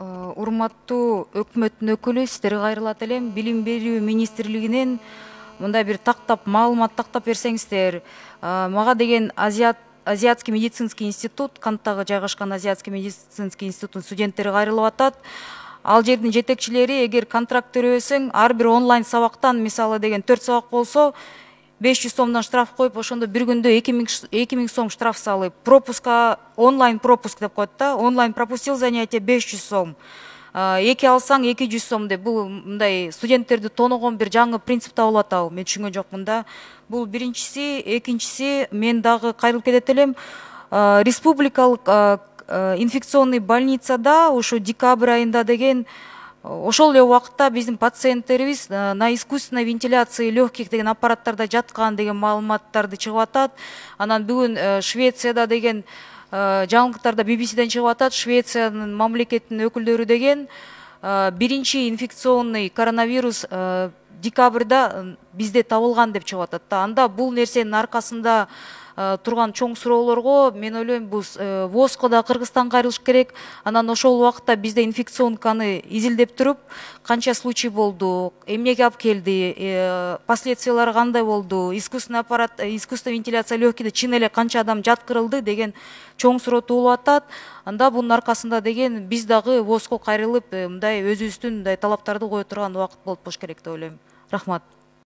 Урматтуу өкмөттүн өкүлү, сиздерге кайрылат элем. Билим берүү министрлигинен мындай бир маалымат тактап берсеңиздер. Мага деген Азиатский медицинский институт, Канттагы жайгашкан Азиатский медицинский институттун студенттери кайрылып атат. Ал жердин жетекчилери эгер контракт төрөбөсөң, ар бир онлайн сабактан, мисалы деген 4 сабак болсо, 500 сомдон штраф коюп, ошондо бир күндө 2000 сом штраф салып, пропуска онлайн пропуск деп коет да, онлайн пропустил занятие 500 сом. 2 алсаң 200 сом деп, бул мындай студенттерди тоногон бир жаңы принцип табылып атабы, мен түшүнгөн жокмун да. Бул биринчиси, экинчиси, мен дагы кайрылып кетет элем. Республикалык инфекционный больницада ушу декабрь айында деген ошол эле убакытта биздин пациенттерибиз на искусственной вентиляции легких деген аппараттарда жаткан деген маалыматтарды чыгып атат. Анан бүгүн Швецияда деген жаңылыктарда BBC'ден чыгып атат. Швециянын мамлекеттин өкүлдөрү деген биринчи инфекционный коронавирус декабрда бизде табылган деп чыгып атат да. Анда бул нерсенин аркасында турган чоң суроолорго мен ойлойм, бул ВОЗго да Кыргызстанга кайрылыш керек. Анан ошол убакытта бизде инфекционканы изилдеп туруп, канча случай болду, эмнеге алып келди, последствиялары кандай болду, искусственный вентиляция легкийде чын эле канча адам жаткырылды деген чоң суроо туулуп атат. Анда бунун аркасында деген биз дагы ВОЗго кайрылып, мындай өзүбүздүн мындай талаптарды кое турган убакыт болуп болуш керек деп ойлойм. Рахмат.